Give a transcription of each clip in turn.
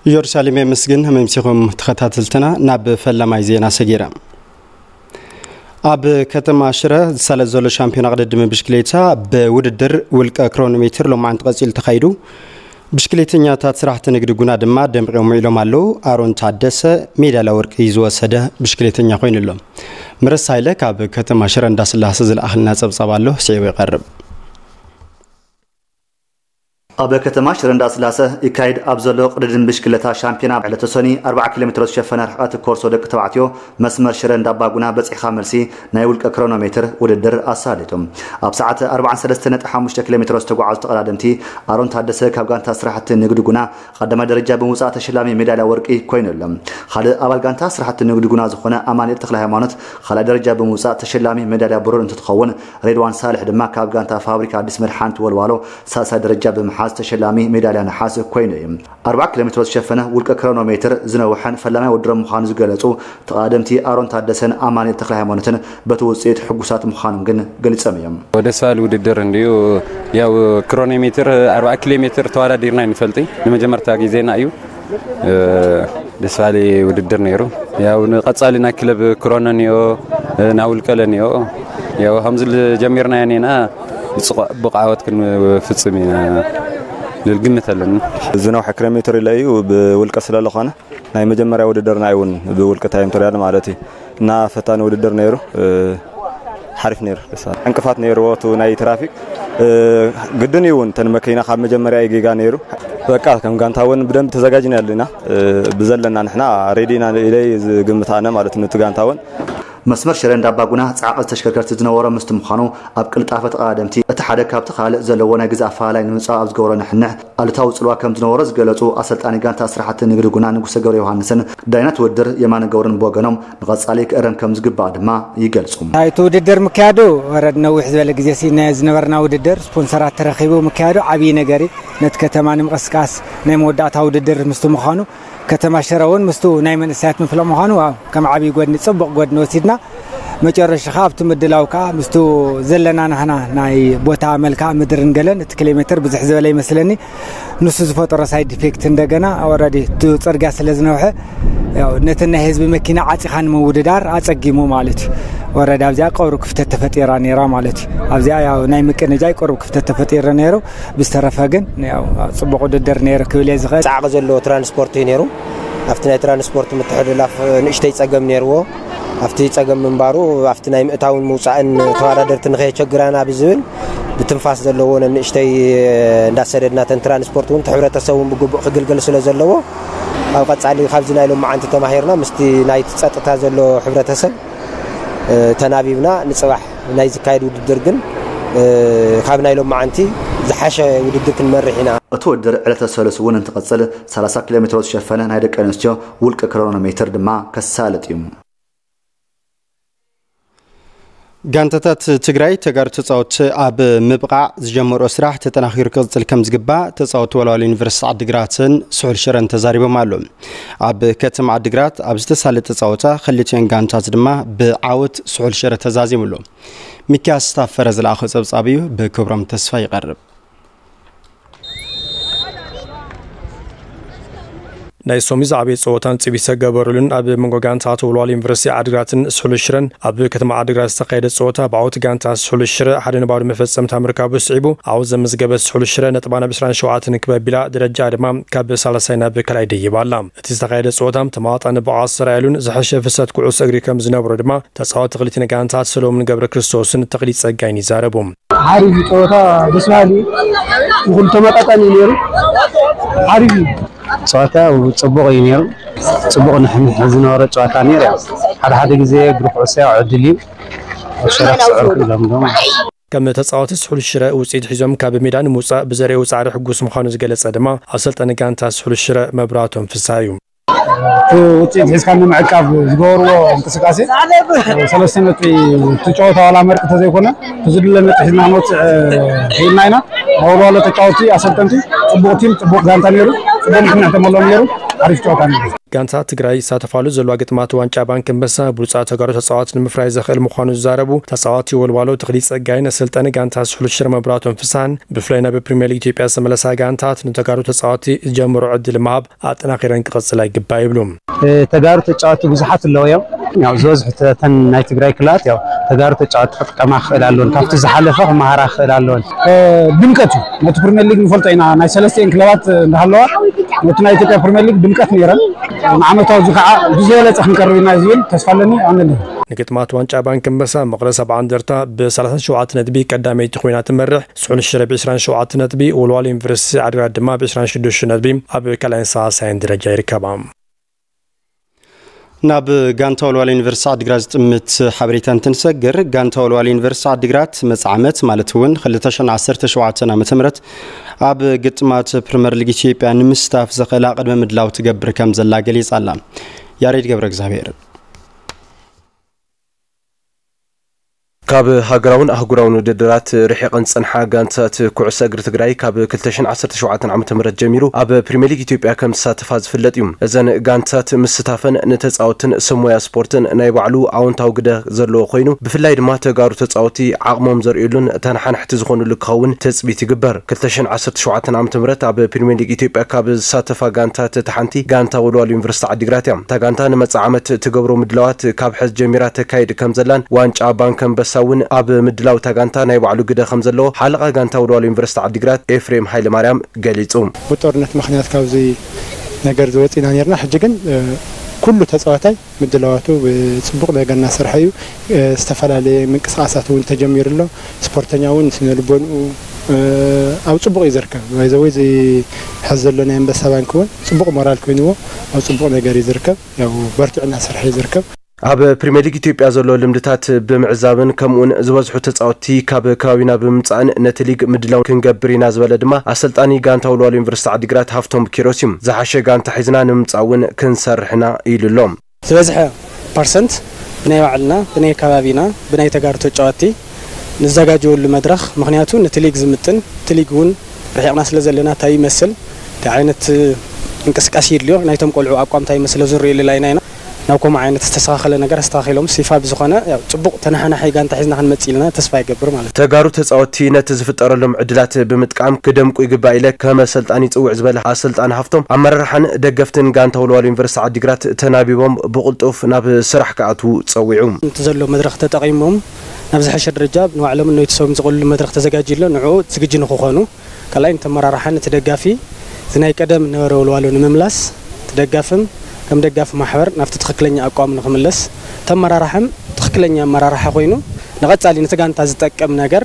ኢየሩሳሌም የመስግን። መምሲኹም ተኸታተልትና ናብ ፈላማይ ዜና ሰጊረ። ኣብ ከተማ ሽረ ዝሳለጥ ዘሎ ሻምፒዮና ቅድድም ብሽክሌታ ብውድድር ውልቀ ክሮኖሜትር ሎማዓንቲ ቀጺሉ ተኻይዱ። ብሽክሌተኛታት ስራሕቲ ንግዲ ጉና ድማ ደምቂዮም ውዒሎም ኣለዉ። ኣሮን ታደሰ ሜዳልያ ወርቂ ዝወሰደ ብሽክሌተኛ ኮይኑ ኣሎ። ምረስ ሃይለ ካብ ከተማ ሽረ እንዳስላሴ ዝለኣኽልና ጸብጻብ ኣሎ፣ ስዒቡ ይቐርብ። ኣብ ከተማ ሽረ እንዳስላሰ ይካየድ ኣብ ዘሎ ቅድድም ብሽክለታ ሻምፒዮና ዕለተ ሰኒ ኣርብዓ ኪሎ ሜትሮ ዝሸፈነ ርሕቀት ኮርሶ ደቂ ተባዕትዮ መስመር ሽረ እንዳባጉና በጺሕካ መልሲ ናይ ውልቀ ክሮኖሜትር ውድድር ኣሳሊጡ። ኣብ ሰዓት ኣርባዓን ሰለስተን ነጥቢ ሓሙሽተ ኪሎ ሜትሮ ዝተጓዓዙ ተቐዳደምቲ ኣሮን ታደሰ ካብ ጋንታ ስራሕቲ ንግዲ ጉና ቀዳማይ ደረጃ ብምውጻእ ተሸላሚ ሜዳልያ ወርቂ ኮይኑ ኣሎ። ካልእ ኣባል ጋንታ ስራሕቲ ንግዲ ጉና ዝኾነ ኣማኑኤል ተክለ ሃይማኖት ካልኣይ ደረጃ ብምውጻእ ተሸላሚ ሜዳልያ ብሩር እንትትኸውን፣ ሬድዋን ሳልሕ ድማ ካብ ጋንታ ፋብሪካ ኣዲስ መድሓኒት ወልዋሎ ሳልሳይ ደረጃ ብምሓዝ ተሸላሚ ሜዳልያ ነሓስ ኮይኑ እዩ። ኣርብዓ ኪሎ ሜትሮ ዝሸፈነ ውልቀ ክሮኖሜትር ዝነውሐን ፈላማይ ውድድሮም ምዃኑ ዝገለጹ ተቐዳደምቲ ኣሮን ታደሰን ኣማኑኤል ተክለ ሃይማኖትን በቲ ውጽኢት ሕጉሳት ምዃኖም ግን ገሊጾም እዮም። ደስ በሃሊ ውድድር እንድዩ። ያው ክሮኖሜትር ኣርብዓ ኪሎ ሜትር ተወዳዲርና ኣይንፈልጥን፣ ንመጀመርታ ግዜና እዩ። እ፣ ደስ በሃሊ ውድድር ነይሩ። ያው ንቐጻሊ ናይ ክለብ ክሮኖ እኒኦ፣ እ፣ ናይ ውልቀለ እኒኦ። ያው ከምዚ ል-፣ ጀሚርናዮ እኒና ብጽቡቕ ዓወት ክንፍጽም ኢና ልብል ግምት ኣለኒ። ዝነውሐ ክረሜትር ኢለ እዩ ብውልቀ ስለ ዝኾነ ናይ መጀመርያ ውድድርና እዩ እውን ብውልቀ ታይም ትሪያል ማለት እዩ። እና ፈታኒ ውድድር ነይሩ፣ እ፣ ሓሪፍ ነይሩ። ደስ በሃሊ ዕንቅፋት ነይርዎ፣ እቲ ናይ ትራፊክ፣ እ፣ ግድን እዩ እውን። እተን መኪና ካብ መጀመርያ እዩ ጌጋ ነይሩ። በቃ ከም ጋንታ እውን ብደንብ ተዘጋጅና ኣለና፣ እ፣ ብዘለና ንሕና ሬዲ ኢና ኢለ ዝግምት ኣነ ማለት ነው። እቲ ጋንታ እውን መስመር ሽረ እንዳባጉና ጻዕቒ ተሽከርከርቲ ዝነበሮ ምስቲ ምዃኑ፣ ኣብ ቅልጣፈ ተቐዳደምቲ እቲ ሓደ ካብቲ ካልእ ዘለዎ ናይ ግዜ ኣፈላላይ ንምጽባብ ኣብ ዝገበሮ ንሕንሕ ኣሉታዊ ጽልዋ ከም ዝነበሮ ዝገለጹ ኣሰልጣኒ ጋንታ ስራሕቲ ንግዲ ጉና ንጉሰ ገብረ ዮሃንስን ዳይናት ውድድር የማነ ገብሩን ብወገኖም ንቐጻሊ ክእረም ከም ዝግባእ ድማ ይገልጹ። እቲ ውድድር ምክያዱ ወረድ ነዊሕ ዝበለ ግዜ ሲ ናይ ዝነበርና ውድድር ስፖንሰራት ተረኺቡ ምክያዱ ዓብዪ ነገር እዩ። ነቲ ከተማ ንምቕስቃስ ናይ መወዳእታ ውድድር ምስቲ ምዃኑ ከተማ ሽረ እውን ምስቱ ናይ መንእሰያት ምፍለ ምዃኑ፣ ዋው፣ ከም ዓብዪ ጎድኒ፣ ጽቡቕ ጎድኒ ወሲድና። መጨረሻ ከኣ ኣብቲ ምድላው ከኣ ምስቱ ዘለና ናህና ናይ ቦታ መልክዓ ምድርን ገለን እቲ ኪሎ ሜትር ብዙሕ ዝበለ ይመስለኒ። ንሱ ዝፈጠሮ ሳይድ ኢፌክት እንደገና ኦረዲ እቲ ጽርግያ ስለ ዝነውሐ፣ ያው፣ ነተን ናይ ህዝቢ መኪና ዓጺኻ ንምውድዳር ኣጸጊሙ ማለት እዩ። ኦረዲ ኣብዚኣ ቁሩብ ክፍተት ተፈጢራ ነይራ ማለት እዩ። ኣብዚኣ ያው ናይ ምቅንጃይ ቁሩብ ክፍተት ተፈጢሩ ነይሩ። ብዝተረፈ ግን ያው ጽቡቕ ውድድር ነይሩ ክብል እየ ዝኽእል። ጻዕቂ ዘለዎ ትራንስፖርት እዩ ነይሩ። ኣብቲ ናይ ትራንስፖርት ምትሕልላፍ ንእሽተይ ጸገም ነይርዎ። ኣብቲ ጸገም ምንባሩ ኣብቲ ናይ ምእታውን ምውጻእን ተወዳደርቲ ንኸየቸግራና ብዝብል ብትንፋስ ዘለዎ ነንእሽተይ እንዳሰደድና፣ ተን ትራንስፖርት እውን እቲ ሕብረተሰብ እውን ብግቡእ ክግልገል ስለ ዘለዎ ኣብ ቀጻሊ ካብዚ ናይ ሎማዓንቲ ተማሂርና ምስቲ ናይቲ ጸጥታ ዘሎ ሕብረተሰብ እ፣ ተናቢብና ንጽባሕ ናይ ዝካየድ ውድድር ግን፣ እ፣ ካብ ናይ ሎማዓንቲ ዝሓሸ ውድድር ክንመርሕ ኢና። እቲ ውድድር ዕለተ ሰሉስ እውን እንትቕጽል ሰላሳ ኪሎ ሜትሮ ዝሸፈነ ናይ ደቂ ኣንስትዮ ውልቀ ክሮኖሜትር ድማ ከሳልጥ እዩ። ጋንታታት ትግራይ ተጋሩ ተጻወትቲ ኣብ ምብቓዕ ዝጀመርኦ ስራሕ ተጠናኺሩ ክቕጽል ከም ዝግባእ ተጻወትቲ ወልዋሎ ዩኒቨርሲቲ ዓዲግራትን ስሑል ሽረን ተዛሪቦም ኣለዉ። ኣብ ከተማ ዓዲግራት ኣብ ዝተሳለጠ ጸወታ ክልቲኦን ጋንታት ድማ ብዓወት ስሑል ሽረ ተዛዚሙ ኣሎ። ሚኪያስ ታፈረ ዝለኣኾ ጸብጻብ እዩ፣ ብክብሮም ተስፋ ይቐርብ። ናይ ሶሚ ዝዓበየ ጸወታን ጽቢት ዝተገበረሉን ኣብ መንጎ ጋንታት ወልዋሎ ዩኒቨርሲቲ ዓዲግራትን ስሑል ሽረን ኣብ ከተማ ዓዲግራት ዝተኻየደ ጸወታ ብዓወት ጋንታ ስሑል ሽረ ሓደ ንባዶ መፈጸምታ ምርካቡ ስዒቡ፣ ዓወት ዘመዝገበት ስሑል ሽረ ነጥባ ናብ ዕስራን ሸውዓተን ክብ ኣቢላ ደረጃ ድማ ካብ ሳልሳይ ናብ ካልኣይ ደይባ ኣላ። እቲ ዝተኻየደ ጸወታ ተማጣኒ ብቕዓት ዝተራእየሉን ዝሐሸ ፍሰት ኩዕሶ እግሪ ከም ዝነበሮ ድማ ተጻወቲ ክልቲን ጋንታት ሰሎሞን ገብረ ክርስቶስን ተኽሊት ጸጋይን ይዛረቡ። ሓሪፍ ጸወታ፣ ደስ በሃሊ፣ ንኹሉ ተመጣጣኒ እዩ ነይሩ። ሓሪፍ እዩ። ጸወታ ጽቡቕ እዩ ነይሩ። ጽቡቕ ንሕንሕ ዝነበረ ጸወታ ነይሩ። ያው ሓደ ሓደ ግዜ እግሪ ኩዕሶ ያው ዕድል እዩ። ኣብ ሸረፍ ስዕር ኢሎም ዶ ከም ተጻወቲ ስሑል ሽረ ውጽኢት ሒዞም ካብ ሜዳ ንምውጻእ ብዘርእዎ ጻዕሪ ሕጉስ ምዃኑ ዝገለጸ ድማ ኣሰልጣኒ ጋንታ ስሑል ሽረ መብራቶም ፍስሃ እዩ። እቲ ውፅኢት ሒዝካ ንምዕቃብ ዝገበርዎ እንቅስቃሴ ሰለስተ ነጥቢ፣ እቲ ጨወታ ዋላ መርቂ ተዘይኮነ፣ እቲ ዝድለ ነጥቢ ሒዝና ክንወፅእ ክኢልና ኢና። ናይ ወልዋሎ ተጫወቲ ኣሰልጠንቲ፣ ፅቡቕ ቲም፣ ፅቡቕ ጋንታ ነይሩ። ቅደም ክንሕተመሎም ነይሩ። ሓሪፍ ጨዋታ ነይሩ። ጋንታ ትግራይ ይሳተፋሉ ዘለዋ ግጥማት ዋንጫ ባንክ ኣንበሳ ብሉፃት ተጋሩ ተፃዋት ንምፍራይ ዘኽእል ምዃኑ ዝዛረቡ ተፃዋቲ ወልዋሎ ተኽሊ ፀጋይ ነሰልጠኒ ጋንታ ስሑል ሽረ መብራቶም ፍስሃን ብፍላይ ናብ ፕሪምየር ሊግ ኢትዮጵያ ዝተመለሳ ጋንታት ንተጋሩ ተፃዋቲ ዝጀምሩ ዕድል ምሃብ ኣጠናኺረን ክቐፅላ ይግባእ ይብሉ። ተጋሩ ተጫወቱ ብዙሓት ኣለዉ እዮም። ያው ዝበዝሑ ተን ናይ ትግራይ ክለባት ያው ተጋሩ ተጫወቱ ክጥቀማ ክኽእል ኣለዎን ካብቲ ዝሓለፈ ክመሃራ ክኽእል ኣለዎን። ድምቀት እዩ። ነቲ ፕሪምየር ሊግ ንፈልጦ ኢና። ናይ ሰለስቲኤን ክለባት እንዳሃለዋ ነቲ ናይ ኢትዮጵያ ፕሪምየር ሊግ ድምቀት ነይረን። ንዓመታዊ እዚ ከዓ ብዝበለፀ ክንቀርብ ኢና ዝብል ተስፋ ኣለኒ። ኣነኒ ንግጥማት ዋንጫ ባንክ ኣንበሳ መቐለ ሰብዓ እንደርታ ብ ሰላሳ ሸውዓተ ነጥቢ ቀዳመይቲ ኮይና ትመርሕ። ስሑል ሽረ ብ ዕስራን ሸውዓተ ነጥቢ፣ ወልዋሎ ዩኒቨርሲቲ ዓድግራት ድማ ብ ዕስራን ሽዱሽተ ነጥቢ ኣብ ካልኣይን ሳልሳይን ደረጃ ይርከባ። ናብ ጋንታ ወልዋሎ ዩኒቨርሲቲ ዓድግራት ዝጥምት ሓበሬታ እንትንሰግር፣ ጋንታ ወልዋሎ ዩኒቨርሲቲ ዓድግራት መጻ ዓመት ማለት እውን ክልተ ሽሕን ዓሰርተ ሸውዓተን ዓመተ ምህረት ኣብ ግጥማት ፕሪምየር ሊግ ኢትዮጵያ ንምስታፍ ዘኽእላ ቅድመ ምድላው ትገብር ከም ዘላ ገሊጻ ኣላ። ያሬድ ገብረ እግዚኣብሔር። ካብ ሃገራውን ኣህጉራውን ውድድራት ርሒቐን ዝጸንሓ ጋንታት ኩዕሶ እግሪ ትግራይ ካብ ክልተ ሽሕን ዓሰርተ ሸውዓተን ዓመተ ምህረት ጀሚሩ ኣብ ፕሪምየር ሊግ ኢትዮጵያ ከም ዝሳተፋ ዝፍለጥ እዩ። እዘን ጋንታት ምስታፈን ንተጻወትን ሰብ ሞያ ስፖርትን ናይ ባዕሉ ኣወንታዊ ግደ ዘለዎ ኮይኑ፣ ብፍላይ ድማ ተጋሩ ተጻወቲ ዓቕሞም ዘርእዩሉን ተነሓናሕቲ ዝኾኑሉ ክኸውን ትጽቢት ይግበር። ክልተ ሽሕን ዓሰርተ ሸውዓተን ዓመተ ምህረት ኣብ ፕሪምየር ሊግ ኢትዮጵያ ካብ ዝሳተፋ ጋንታት እታ ሓንቲ ጋንታ ወልዋሎ ዩኒቨርሲቲ ዓዲግራት እያ። እታ ጋንታ ንመጻኢ ዓመት ትገብሮ ምድላዋት ካብ ሕዚ ጀሚራ ተካይድ ከም ዘላን ዋንጫ ባንክ ኣንበሳ እውን ኣብ ምድላው እታ ጋንታ ናይ ባዕሉ ግደ ከም ዘለዎ ሓለቓ ጋንታ ወልዋሎ ዩኒቨርሲቲ ዓዲግራት ኤፍሬም ሃይለማርያም ገሊጹ። ብጦርነት ምኽንያት ካብዚ ነገር ዝወፂና ነርና። ሕጂ ግን ኩሉ ተፃዋታይ ምድላዋቱ ብፅቡቕ ነገር እናሰርሐ እዩ። ዝተፈላለየ ምንቅስቃሳት እውን ተጀሚሩ ኣሎ። ስፖርተኛ እውን ስነ ልቦንኡ ኣብ ፅቡቕ እዩ ዝርከብ። ባይዘወይ እዚ ሕዚ ዘሎ ናይ ኣንበሳ ባንክ እውን ፅቡቕ ሞራል ኮይንዎ ኣብ ፅቡቕ ነገር እዩ ዝርከብ። ያው በርቲዑ እናሰርሐ እዩ ዝርከብ። ኣብ ፕሪምየር ሊግ ኢትዮጵያ ዘሎ ልምድታት ብምዕዛብን ከምኡውን ዝበዝሑ ተፃወትቲ ካብ ከባቢና ብምምፃእን ነቲ ሊግ ምድላው ክንገብር ኢና ዝበለ ድማ ኣሰልጣኒ ጋንታ ወልዋሎ ዩኒቨርሲቲ ዓዲግራት ሃፍቶም ኪሮስ እዩ። ዝሓሸ ጋንታ ሒዝና ንምምፃእ እውን ክንሰርሕ ኢና ኢሉ ኣሎ። ዝበዝሐ ፐርሰንት ብናይ ባዕልና፣ ብናይ ከባቢና፣ ብናይ ተጋሩ ተጫወትቲ ንዘጋጀወሉ መድረኽ፣ ምኽንያቱ ነቲ ሊግ ዝምጥን፣ እቲ ሊግ እውን ርሒቕና ስለ ዘለና እንታይ ይመስል፣ እንታይ ዓይነት እንቅስቃሴ ይድልዮ፣ ናይቶም ቆልዑ ኣቋም እንታይ ይመስል ዝርእየሉ ላይና ኢና። ናብ ከምኡ ዓይነት ዝተስተኻኸለ ነገር ኣስተኻኺሎም ሲፋ ብዝኾነ ያው ጽቡቕ ተነሓናሒ ጋንታ ሒዝና ክንመጽእ ኢልና ተስፋ ይገብር ማለት እዩ። ተጋሩ ተጻወትቲ ነቲ ዝፍጠረሎም ዕድላት ብምጥቃም ክደምቁ ይግባእ ኢለ ከም ኣሰልጣኒ ይጽውዕ ዝበለ ኣሰልጣኒ ሃፍቶም፣ ኣመራርሓን ደገፍትን ጋንታ ወልዋሎ ዩኒቨርሲቲ ዓዲግራት ተናቢቦም ብቕልጡፍ ናብ ስራሕ ክኣትዉ ጸዊዑ። እቲ ዘሎ መድረኽ ተጠቒሞም ናብ ዝሐሸ ደረጃ ንባዕሎም ነቲ ሰብም ዝቕልሉ መድረኽ ተዘጋጅዩ ኣሎ። ንዕኡ ዝግጁ ንክኾኑ ካልኣይ ነቲ ኣመራርሓ ነቲ ደጋፊ እዚ ናይ ቀደም ነበረ ወልዋሎ ንምምላስ እቲ ደጋፍም ከም ደጋፊ ማሕበር ናብቲ ትኽክለኛ ኣቋም ንክምለስ እቲ ኣመራርሓም ትኽክለኛ ኣመራርሓ ኮይኑ ንቐጻሊ ነቲ ጋንታ ዝጠቅም ነገር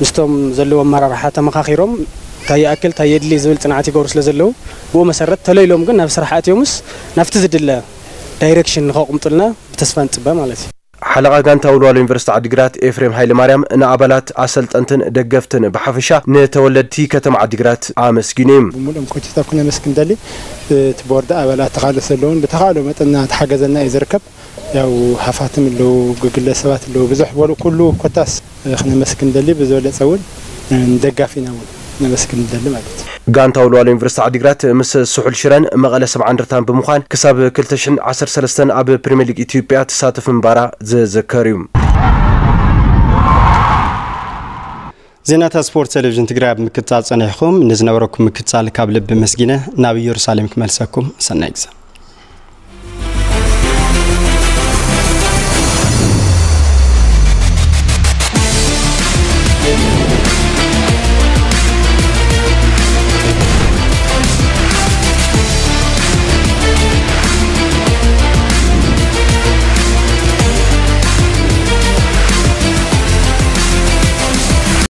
ምስቶም ዘለዉ ኣመራርሓ ተመኻኺሮም እንታይ ይኣክል እንታይ የድሊ ዝብል ጽንዓት ይገብሩ ስለ ዘለዉ ብኡ መሰረት ተለይሎም ግን ናብ ስራሕ ኣትዮምስ ናብቲ ዝድለ ዳይሬክሽን ንኸቕምጡልና ብተስፋ ንጽበ ማለት እዩ። ሓለቓ ጋንታ ወልዋሎ ዩኒቨርሲቲ ዓዲግራት ኤፍሬም ሃይለማርያም ንኣባላት ኣሰልጠንትን ደገፍትን ብሓፈሻ ንተወለድቲ ከተማ ዓዲግራት ኣመስጊኑ እዩ። ብምሉኦም ኮችታት ክነመስግን ደሊ እቲ ቦርድ ኣባላት ተኻለ ዘለውን ብተኻእሎ መጠን እናተሓገዘና እዩ ዝርከብ። ያው ሃፋትም ኣለዉ፣ ግግለ ሰባት ኣለዉ፣ ብዙሕ በሉ ኩሉ ኮታስ ክነመስግን ደሊ ብዝበለጸ እውን ንደጋፊና እውን ነመስግን ደሊ ማለት እዩ። ጋንታ ወልዋሎ ዩኒቨርሲቲ ዓዲግራት ምስ ስሑል ሽረን መቐለ ሰብዓ እንደርታን ብምዃን ክሳብ ክልተ ሽሕን ዓሰርተ ሰለስተን ኣብ ፕሪምየር ሊግ ኢትዮጵያ ትሳተፍ ምንባራ ዝዝከር እዩ። ዜናታት ስፖርት ቴሌቪዥን ትግራይ ኣብ ምክትታል ጸኒሕኩም ንዝነበረኩም ምክትታል ካብ ልቢ መስጊነ ናብ ኢየሩሳሌም ክመልሰኩም። ሰናይ ግዜ።